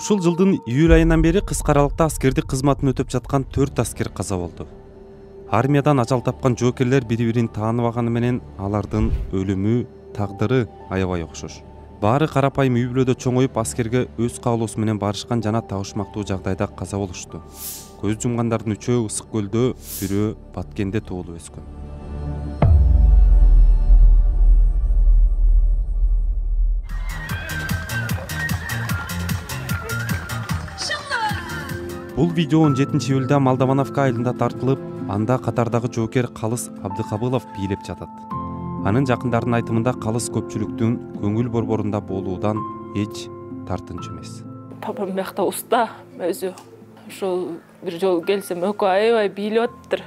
Ушул жылдын июль айынан бери кыска аралыкта аскердик кызматын өтөп жаткан 4 аскер каза болду. Армиядан ажал тапкан жоокерлер бири-бирин тааныбаганы менен алардын өлүмү, тагдыры аябай окшош. Баары карапайым үй бүлөдө чоңоюп аскерге өз каалоосу менен барышкан жана табышмактуу жагдайда каза болушту. Көз жумгандардын 3-өө Ысык көлдө, бирөө Баткенде туулуп өскөн. Бул видео 17-июлда Молдовановка айылында тартылып, анда катардагы жоокер Калыс Абдыкабылов бийлеп жатат. Анын жакындарынын айтымында Калыс көпчүлүктүн көңүл борборунда болуудан эч тартынчу эмес. Папам бияқта уста өзү. Ошол бир жолу келсем экөө аябай бийлеп атыптыр.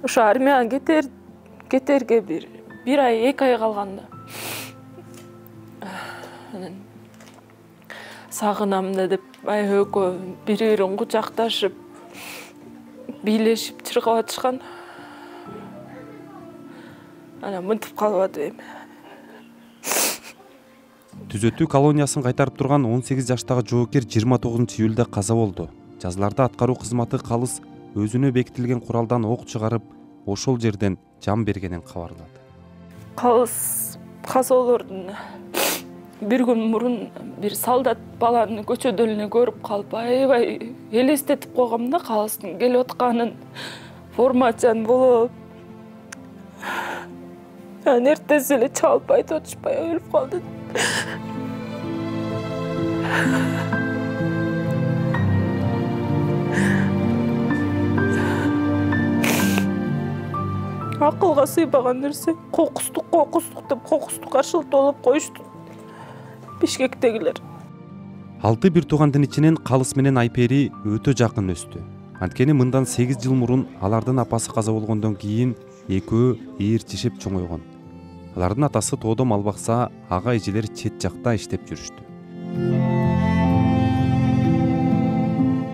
Ошо армияга кетерге бир ай, 2 ай калганда. Анан сагынам да деп экөө бири-бирин кучакташып, бийлешип чыркап атышкан. Анан мынтип калып атып эми. Түзөтүү колониясын кайтарып турган 18 жаштагы жоокер 29-июлда каза болду. Жазларда аткаруу кызматы Калыс өзүнө бекитилген куралдан ок чыгарып, ошол жерден жан бергенин кабарлады. Калыс казоолордун бир күн мурун бир солдат баланы көчөдө эле көрүп калып, аябай элестетип койгом да Калыстын келип атканын, формачан болуп. Анан эртеси эле чалып айтып атышпай өлүп калды. Акылга сыйбаган нерсе, кокустук деп кокустукка шылтоолоп коюшту Бишкектегилер. 6 бир туугандын ичинен Калыс менен Айпери өтө жакын өстү. Анткени мындан 8 жыл мурун алардын апасы каза болгондон кийин экөө ээрчишип чоңойгон. Алардын атасы тоодо мал бакса, ага-эжелер чет жакта иштеп жүрүштү.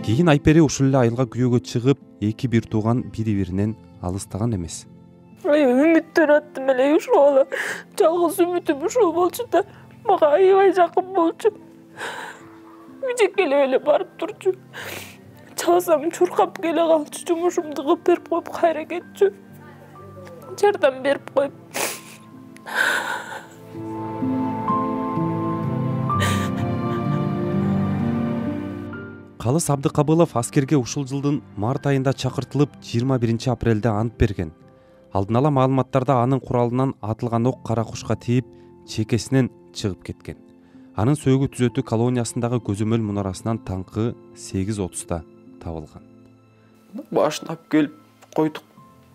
Кийин Айпери ушул эле айылга күйөөгө чыгып, 2 бир тууган бири-биринен алыстаган эмес. Үмүттөнүп аттым эле ушул. Жалгыз үмүтүм ушул болчу да, мага аябай жакын болчу. Үжекелеп эле барып турчу. Чалсам чуркап келе калчу, жумушумду кылып берип коюп кайра кетчү. Жардам берип коюп. Калыс Абдыкабылов аскерге ушул жылдын март айында чакыртылып, 21 апрелде ант берген. Алдын ала маалыматтарда анын куралынан атылган ок кара кушка тийип, чекесинен чыгып кеткен. Анын сөөгү түзөтүү колониясындагы көзөмөл мунарасынан таңкы 8:30 табылган. Баштап келип койдук.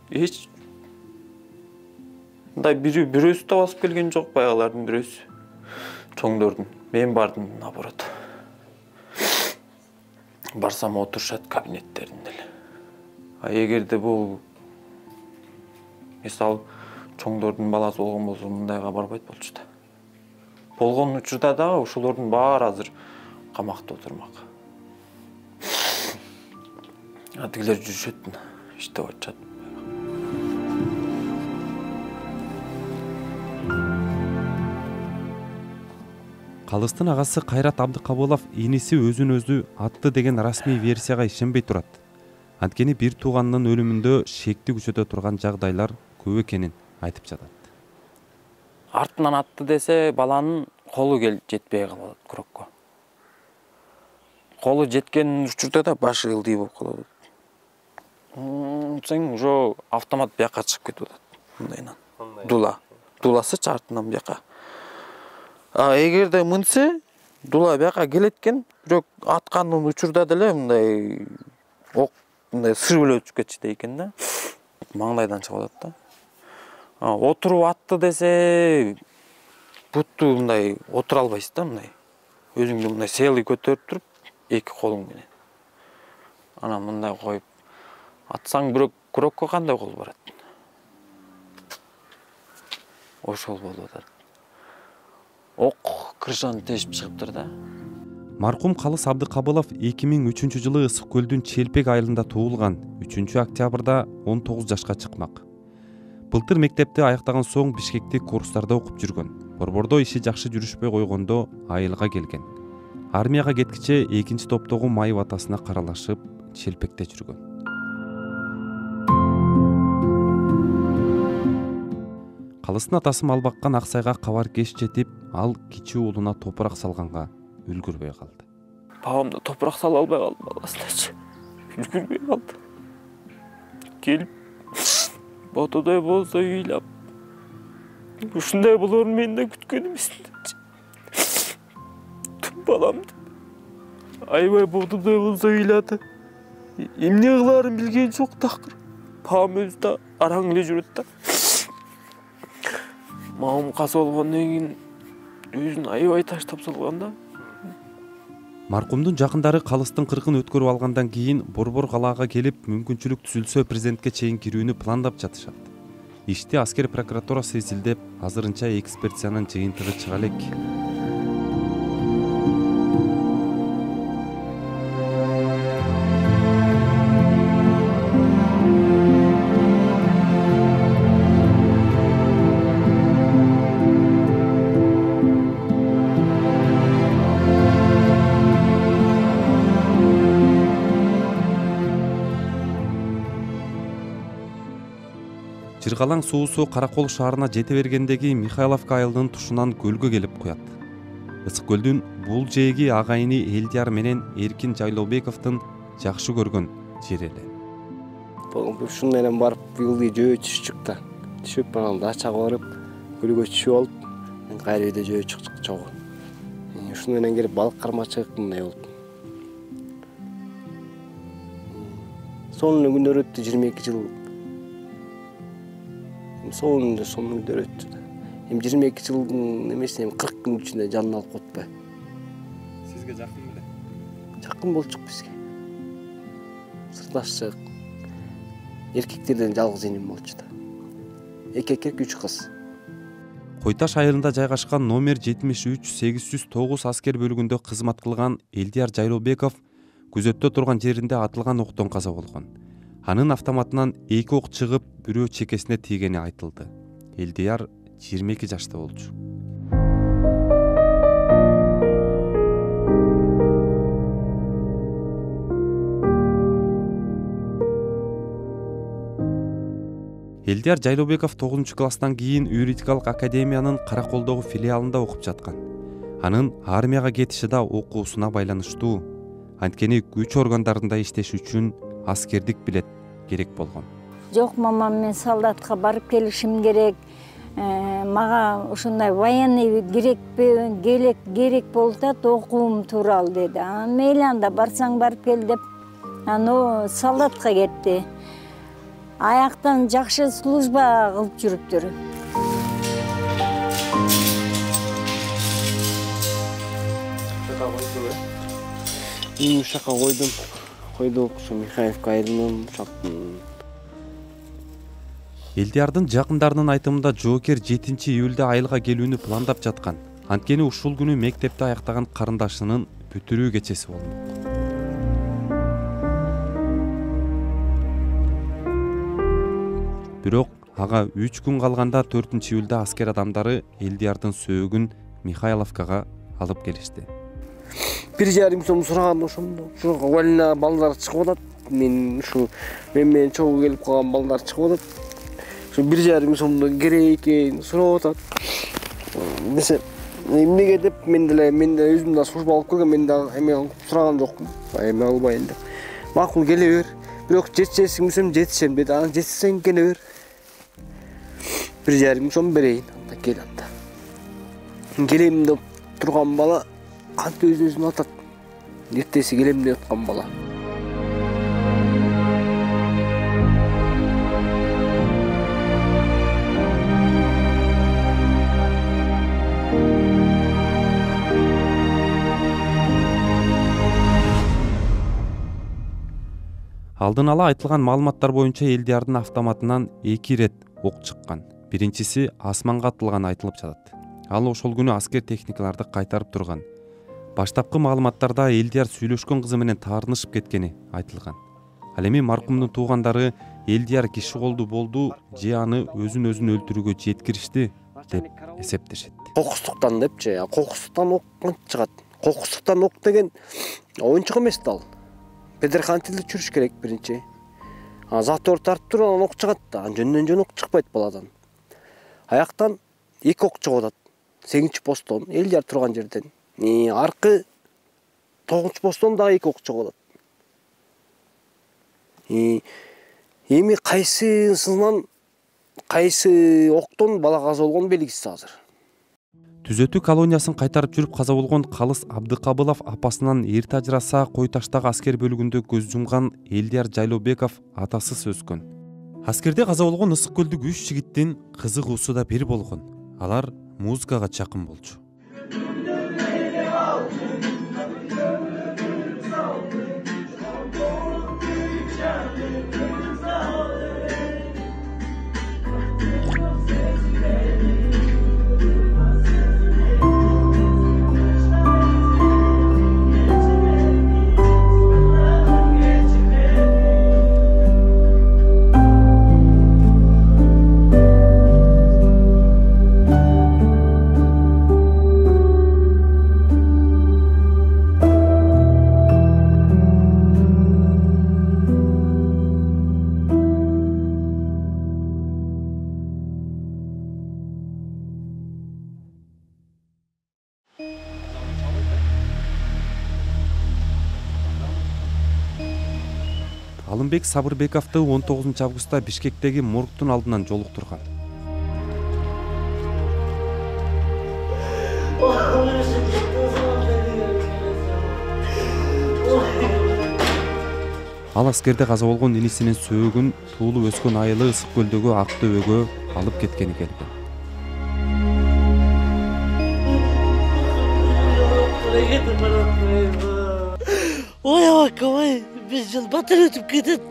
Эч мындай бирөөсү да басып келген жок, баягылардын бирөөсү. Чоңдордун. Мен бардым наоборот. Барсам отурушат кабинеттеринде эле. Эгерде бул мисалы чоңдордун баласы болгон болсо мындайга барбайт болчу да. Болгон учурда дагы ошолордун баары азыр камакта отурмак. Тигилер жүрүшөт, иштеп атышат. Калыстын агасы Кайрат Абдыкабылов иниси өзүн өзү атты деген расмий версияга ишенбей турат. Анткени бир тууганынын өлүмүндө шекти күчөтө турган жагдайлар көп экенин айтып жатат. Артынан атты десе, баланын колу жетпей калат күрөккө. Колу жеткен учурда да башы ылдый болуп калат. Сен уже автомат бияка чыгып кетип атат. Мындайынан. Дуласы артынан бияка. Эгерде мынсе, дула бияка келеткен, бирок аткандын учурда деле мындай ок мындай сырбөлөп чыгып кетчү экен да. Маңдайдан чыгып атат да. Отуруп атты десе, бутту мындай отура албайсыз да, мындай. Өзүңдү мындай селый көтөрүп туруп, 2 колуң менен. Анан мындай коюп атсаң, бирок күрөккө кандай кол барат? Ошол болуп атат. Ок крышаны тешип чыгыптыр да. Маркум Калыс Абдыкабылов 2003 жылы Ысык көлдүн Челпек айылында туулган. 3 октябрда 19 жашка чыкмак. Былтыр мектепти аяктаган соң Бишкектик курстарда окуп жүргөн. Борбордо иши жакшы жүрүшпөй койгондо айылга келген. армияга кеткиче экинчи топтогу майып атасына каралашып челпекте жүргөн. Калыстын атасы мал баккан Аксайга кабар кеч жетип, ал кичүү уулуна топурак салганга үлгүрбөй калды. Бабам да топурак сала албай калды баласындачы. Үлгүрбөй калды. Келип ботодой болсо ыйлап. Ушундай болорун мен да күткөн эмесмин. Баламды аябай ботодой болсо ыйлады. Эмне кылаарын билген жок такыр. Бабам өзү да араң эле жүрөт да. Мамам каза болгондон кийин өзүн аябай таштап салган да. Маркумдун жакындары калыстын 40-ын өткөрүп алгандан кийин Борбор калаага келип, мүмкүнчүлүк түзүлсө президентке чейин кирүүнү пландап жатышат. Ишти аскер прокуратурасы изилдеп, азырынча экспертизанын жыйынтыгы чыга элек. Жыргалаң суусу Каракол шаарына жете бергендеги Михайловка айылынын тушунан көлгө келип куят. Ысык көлдүн бул жээги агайыны Элдияр менен Эркин Жайлообековдун жакшы көргөн жери эле. Ушундай менен барып ылдый жөө түшчүк да. Түшүп анан дачага барып, көлгө түшүп алып, мен кайра үйдө жөө чыктык чогуу. Ушундай менен келип балык кармачык мындай болуп. Сонун күндөр өттү 22 жыл. Сонун күндөр өттү. 22 жылдын эмесин 40 күн ичинде жанын алып котпой. Сизге жакын беле? Жакын болчук бизге. Сырдаштык. Эркектерден жалгыз энем болчу да. 2 эркек 3 кыз. Кой Таш айылында жайгашкан номер 73-809 аскер бөлүгүндө кызмат кылган Элдияр Жайлообеков күзөттө турган жеринде атылган октон каза болгон. Анын автоматынан 2 ок чыгып, бирөө чекесине тийгени айтылды. Элдияр 22 жашта болчу. Элдияр Жайлообеков 9-класстан кийин юридикалык академиянын Караколдогу филиалында окуп жаткан. Анын армияга кетиши да окуусуна байланыштуу. Анткени күч органдарында иштеш үчүн аскердик билет керек болгон. Жок, мамам, мен солдатка барып келишим керек. Мага ушундай военный керек болуп окуум тууралуу деди. Мейли анда барсаң барып кел деп. Аны солдатка кетти. Аяктан жакшы служба кылып жүрүптүр. Ушака койдук, ушу Михайловка айылынын ушактын. Элдиярдын жакындарынын айтымында жоокер 7-июлда айылга келүүнү пландап жаткан. Анткени ушул күнү мектепти аяктаган карындашынын бүтүрүү кечеси болмок. Бирок ага 3 күн калганда 4-июлда аскер адамдары Элдиярдын сөөгүн Михайловкага алып келишти. 1,5 сом сураган ошондо. Ушуга валина балдар чыгып атат. Мен менен чогуу келип калган балдар чыгып атат. Şu 1,5 сомдо керек экен сурап атат. Десе, эмнеге деп мен деле өзүм да служба алып келген, мен да эме сураган жокмун. Эме албайын деп. Макул келе бер. Бирок жетишесиң жетишем деди. Аны жетсең келе бер. 1,5 сом берейин. Анда кел анда. Келем деп турган бала кантип өзүн атат. Эртеси келем деп аткан бала. Алдын ала айтылган маалыматтар боюнча Элдиярдын автоматынан 2 ирет ок чыккан. Биринчиси асманга атылган айтылып жатат. Ал ошол күнү аскер техникаларды кайтарып турган. Баштапкы маалыматтарда Элдияр сүйлөшкөн кызы менен таарынышып кеткени айтылган. Ал эми маркумдун туугандары Элдияр киши колду болду же аны өзүн өлтүрүүгө жеткиришти деп эсептешет. Кокустуктан депчи, кокустуктан ок чыгат. кокустуктан ок деген оюнчук эмес да ал. Предохранительде жүрүш керек биринчи. Затор тартып туруп анан ок чыгат да. Жөндөн жөн ок чыкпайт баладан. Аяктан 2 ок чыгып атат. 8-чи посттон эл жар турган жерден. Аркы 9-чу посттон дагы 2 ок чыгып атат. Эми кайсысынан кайсы октон бала каза болгон белгисиз азыр. Түзөтүү колониясын кайтарып жүрүп каза болгон Калыс Абдыкабылов апасынан эрте ажыраса Кой Таштагы аскер бөлүгүндө көз жумган Элдияр Жайлообеков атасыз өскөн. Аскерде каза болгон Ысык көлдүк 3 жигиттин кызыгуусу да бир болгон. Алар музыкага жакын болчу. Алымбек Сабырбековду 19-августта Бишкектеги моргтун алдынан жолуктурган. Ал аскерде каза болгон инисинин сөөгүн туулуп өскөн айылы Ысык көлдөгү Ак Дөбөгө алып кеткени келген. Ой, акабай, бир жыл батыр өтүп кетет.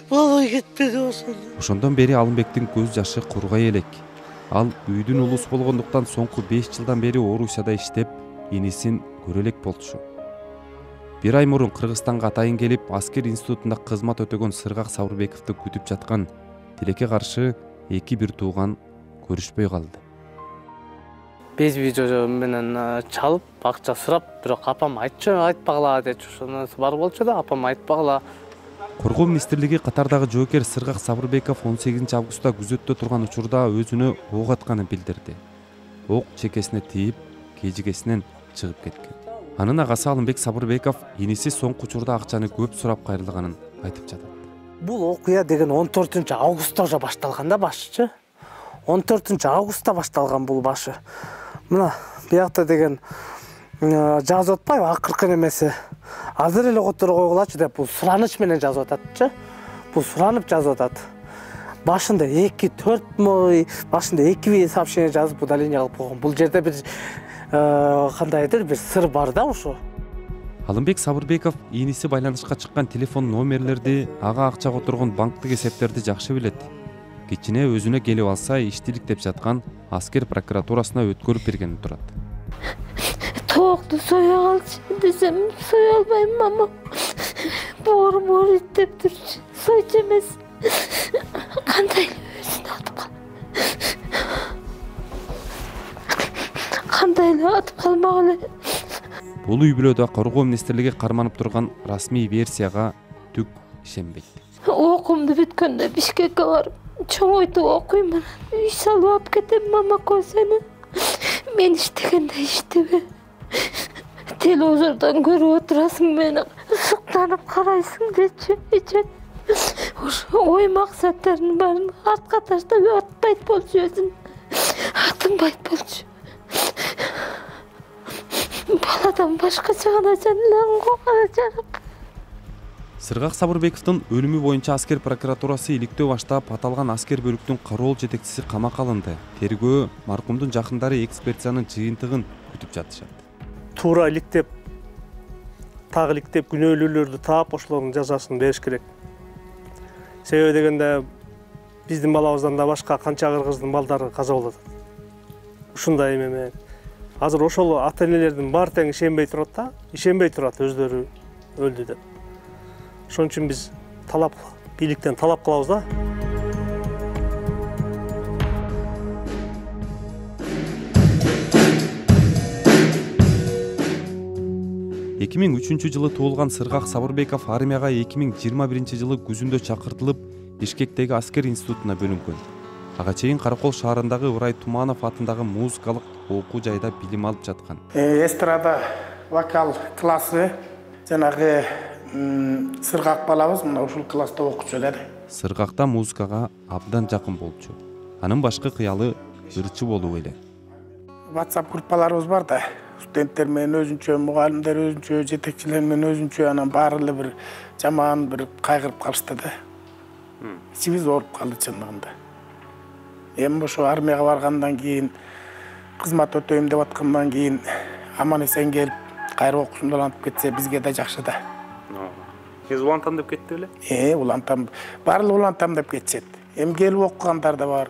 Болбой кетпеди ошондо. Ошондон бери Алымбектин көз жашы кургай элек. Ал үйдүн улусу болгондуктан соңку 5 жылдан бери Орусияда иштеп, инисин көрө элек болчу. Бир ай мурун Кыргызстанга атайын келип, аскер институтунда кызмат өтөгөн Сыргак Сабырбековду күтүп жаткан тилекке каршы эки бир тууган көрүшпөй калды. Безби жожо менен чалып, акча сурап, бирок апам айтпагыла дечи, ошонусу бар болчу да, апам айтпагыла. Коргоо министрлиги катардагы жоокер Сыргак Сабырбеков 18-августта күзөттө турган учурда өзүнө ок атканын билдирди. Ок чекесине тийип, кежигесинен чыгып кеткен. Анын агасы Алымбек Сабырбеков иниси соңку учурда акчаны көп сурап кайрылганын айтып жатат. Бул окуя деген 14-августта уже башталган да башычы. 14-августта башталган бул башы. Мына биякта деген жазып атпайбы акыркы немеси. Азыр эле которо койгулачы деп бул сураныч менен жазып ататчы. Бул суранып жазып атат. Башында 2-4 башында 2 сообщение жазып удаление кылып койгон. Бул жерде бир кандайдыр бир сыр бар да ошо. Алымбек Сабырбеков иниси байланышка чыккан телефон номерлерди, ага акча которгон банктык эсептерди жакшы билет. Кичине өзүнө келип алса иштилик деп жаткан аскер прокуратурасына өткөрүп бергени турат. Тоокду соя калчы десем, соя албайм, мама. Боор иттеп турчу. Сойчу эмес. Кандай өзүн атып кал. Кандай эле атып калмак эле. Бул үй бүлөдө Коргоо министрлиги карманып турган расмий версияга түк ишенбейт. Окуумду бүткөндө Бишкекке барып, чоңойтуп окуйм, үй салып алып кетем, мама, сени. Мен иштегенде иштебе. Телевизордон көрүп отурасың, мени ысыктанып карайсың дечи. Ошо ой максаттардын баарын артка таштап атпайт болчу өзүн. Атынбайт болчу. Баладан башкача гана жарап. Сыргак Сабырбековдун өлүмү боюнча аскер прокуратурасы иликтөө баштап, аталган аскер бөлүктүн кароол жетекчиси камакка алынды. Тергөө маркумдун жакындары экспертизанын жыйынтыгын күтүп жатышат. Туура иликтеп, так иликтеп күнөөлүүлөрдү таап, ошолордун жазасын бериш керек. Себеби дегенде биздин балабыздан да башка канча кыргыздын балдары каза болот. Ушундай эме. Азыр ошол ата-энелердин баары тең ишенбей турат өздөрү өлдү деп. Ошон үчүн биз бийликтен талап кылабыз да. 2003 туулган Сыргак Сабырбеков армияга 2021 күзүндө чакыртылып, Бишкектеги аскер институтуна бөлүнгөн. Ага чейин Каракол шаарындагы Ырай Туманов атындагы музыкалык окуу жайда билим алып жаткан. Эстрада вокал классы жанагы Сыргак балабыз мына ушул класста окучу да. Сыргакта музыкага абдан жакын болчу. Анын башкы кыялы ырчы болуу эле. WhatsApp группаларыбыз бар да. Студенттер менен өзүнчө, мугалимдер өзүнчө, жетекчилер менен өзүнчө, анан баары бир жаман бир кайгырып калышты да. Ичибиз ооруп калды чындыгында. Эми ошо армияга баргандан кийин, кызмат өтөйм деп аткандан кийин аман эсен келип, кайра окуусунду улантып кетсе бизге да жакшы да. Сиз улантам деп кетти беле? Улантам. Баардыгы улантам деп кетишет. Эми келип окугандар да бар.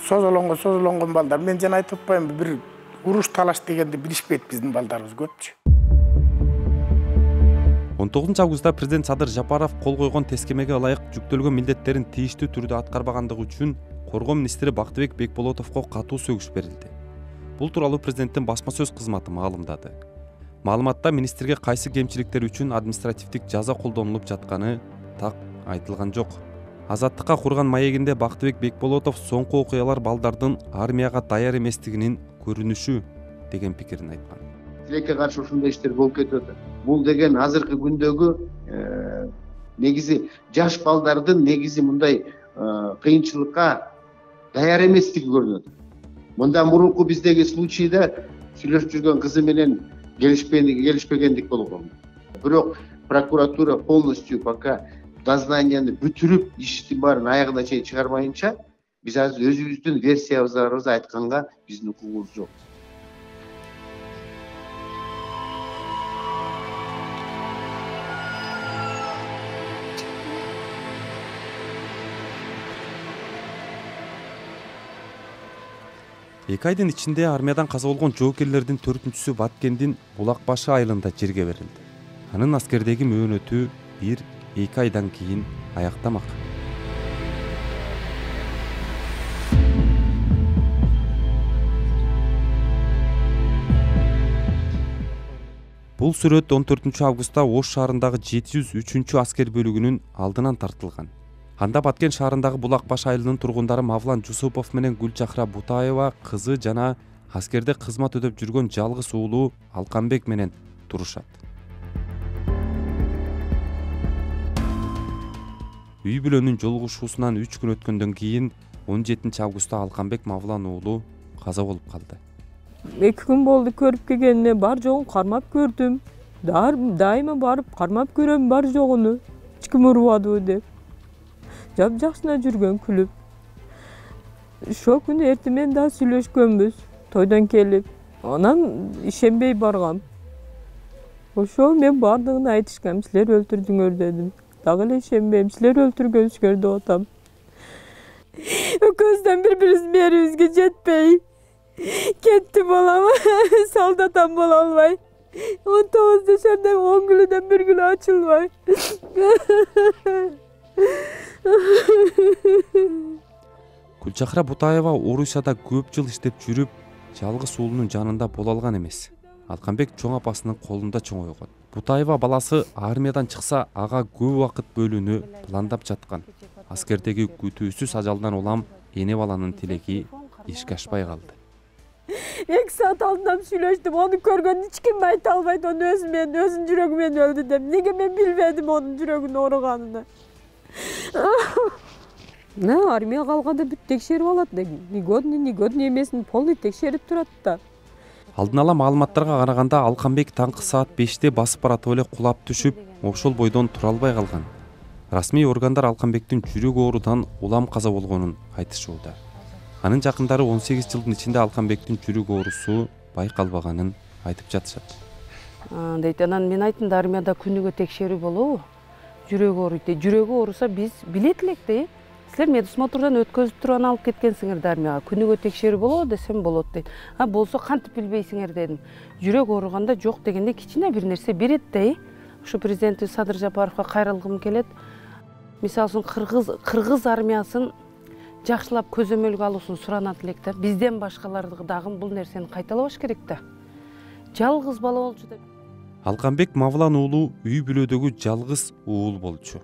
Созолонгон балдар. Мен жана айтып атпаймынбы, бир уруш талаш дегенди билишпейт биздин балдарыбыз көпчү. 19 августта президент Садыр Жапаров кол койгон тескемеге ылайык жүктөлгөн милдеттерин тийиштүү түрдө аткарбагандыгы үчүн Коргоо министри Бактыбек Бекболотовго катуу сөгүш берилди. Бул тууралуу президенттин басма сөз кызматы маалымдады. Маалыматта министрге кайсы кемчиликтер үчүн административдик жаза колдонулуп жатканы так айтылган жок. Азаттыкка курган маегинде Бактыбек Бекболотов соңку окуялар балдардын армияга даяр эместигинин көрүнүшү деген пикирин айткан. Тилекке каршы ушундай иштер болуп кетип атат. Бул деген азыркы күндөгү негизи жаш балдардын негизи мындай кыйынчылыкка даяр эместиги көрүнөт. Мындан мурунку биздеги случайда сүйлөшүп жүргөн кызы менен келишпегендик болгон. Бирок прокуратура полностью пока дознанияны бүтүрүп, иштин баарын аягына чейин чыгармайынча, биз азыр өзүбүздүн версиябызды айтканга биздин укугубуз жок. Эки айдын ичинде армиядан каза болгон жоокерлердин 4-сү Баткендин Булак Башы айылында жерге берилди. Анын аскердеги мөөнөтү 1-2 айдан кийин аяктамак. Бул сүрөт 14 августта Ош шаарындагы 703 аскер бөлүгүнүн алдынан тартылган. Анда Баткен шаарындагы Булак Баш айылынын тургундары Мавлан Жусупов менен Гүлчахра Бутаева кызы жана аскерде кызмат өтөп жүргөн жалгыз уулу Алканбек менен турушат. Үй бүлөнүн жолугушуусунан 3 күн өткөндөн кийин 17 августта Алканбек Мавлан уулу каза болуп калды. 2 күн болду көрүп келгенине, бар жогун кармап көрдүм. Дайыма барып кармап көрөм бар жогуну. Эч ким урбадыбы деп. Жакшына жүргөн күлүп. Ошол күнү эртең менен да сүйлөшкөнбүз. Тойдон келип, анан ишенбей баргам. Ошол мен бардыгын айтышкам, силер өлтүрдүңөр дедим. Дагы эле ишенбейм, силер өлтүргөнсүңөр деп атам. Экөөбүздөн бири-бирибиздин мээрибизге жетпей кетти балам. Солдатам боло албай. 19 жашарда 10 күнүдөн 1 күн ачылбай. Гүлчахра Бутаева Орусияда көп жыл иштеп жүрүп, жалгыз уулунун жанында боло алган эмес. Алканбек чоң апасынын колунда чоңойгон. Бутаева баласы армиядан чыкса, ага көп убакыт бөлүүнү пландап жаткан. Аскердеги күтүүсүз ажалдан улам эне баланын тилеги ишке ашпай калды. 2 саат алдынан сүйлөштүм, ону көргөн эч ким айта албайт, ону өзүнүн жүрөгү менен өлдү деп. Неге мен билбедим онун жүрөгүнүн ооруганын? Армияга алганда бүт текшерип алат. Негодный эмесин полный текшерип турат да. Алдын ала маалыматтарга караганда Алканбек таңкы саат 5-те басып баратып эле кулап түшүп, ошол бойдон тура албай калган. Расмий органдар Алканбектин жүрөк оорудан улам каза болгонун айтышууда. Анын жакындары 18 жылдын ичинде Алканбектин жүрөк оорусу байкалбаганын айтып жатышат. Дейт, анан мен айттым да, армияда күнүгө текшерүү болобу? Жүрөк ооруйт. Жүрөгү ооруса биз билет элек да. Силер медосмотрдан өткөзүп турган алып кеткенсиңер да армияга. Күнүгө текшерүү болобу десем болот дейт. Болсо кантип билбейсиңер дедим. Жүрөк ооруганда жок дегенде кичине бир нерсе берет да. Ушу президент Садыр Жапаровго кайрылгым келет. Мисалы үчүн кыргыз армиясын жакшылап көзөмөлгө алуусун суранат элек да. Бизден башкаларды дагы бул нерсени кайталабаш керек да. Жалгыз бала болчу деп. Алканбек Мавлан уулу үй бүлөдөгү жалгыз уул болчу.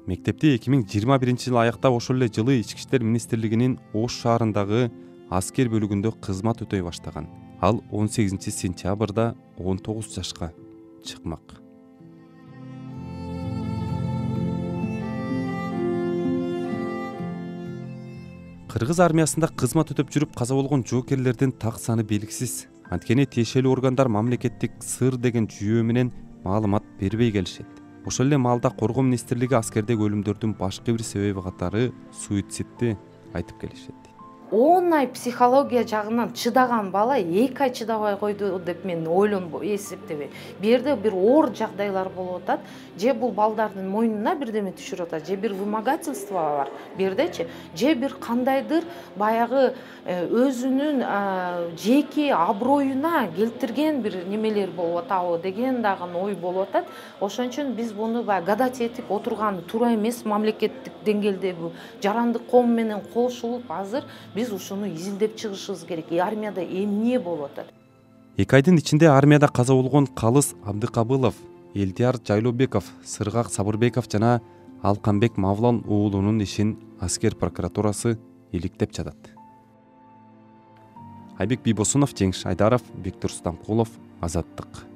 Мектепти 2021-жылы аяктап ошол эле жылы Ички иштер министрлигинин Ош шаарындагы аскер бөлүгүндө кызмат өтөй баштаган. Ал 18-сентябрда 19 жашка чыкмак. Кыргыз армиясында кызмат өтөп жүрүп каза болгон жоокерлердин так саны белгисиз. Анткени тиешелүү органдар мамлекеттик сыр деген жүйөө менен маалымат бербей келишет. Ошол эле маалда Коргоо министрлиги аскердеги өлүмдөрдүн башкы бир себеби катары суицидти айтып келишет. 10 ай психология жагынан чыдаган бала 2 ай чыдабай койду деп мен эсептебейм. Бу жерде бир оор жагдайлар болуп атат, же бул балдардын мойнуна бирдеме түшүрүп атат, же бир вымогательство бар бу жердечи, же бир кандайдыр баягы өзүнүн жеке аброюна келтирген бир немелер болуп атабы деген дагы ой болуп атат. Ошон үчүн биз буну гадать этип отурган туура эмес. Мамлекеттик деңгээлде бул жарандык коом менен кошулуп азыр биз ушуну изилдеп чыгышыбыз керек. Армияда эмне болуп атат? 2 айдын ичинде армияда каза болгон Калыс Абдыкабылов, Элдияр Жайлообеков, Сыргак Сабырбеков жана Алканбек Мавлан уулунун ишин аскер прокуратурасы иликтеп жатат. Айбек Бийбосунов, Жеңиш Айдаров, Бектур Стамкулов, Азаттык.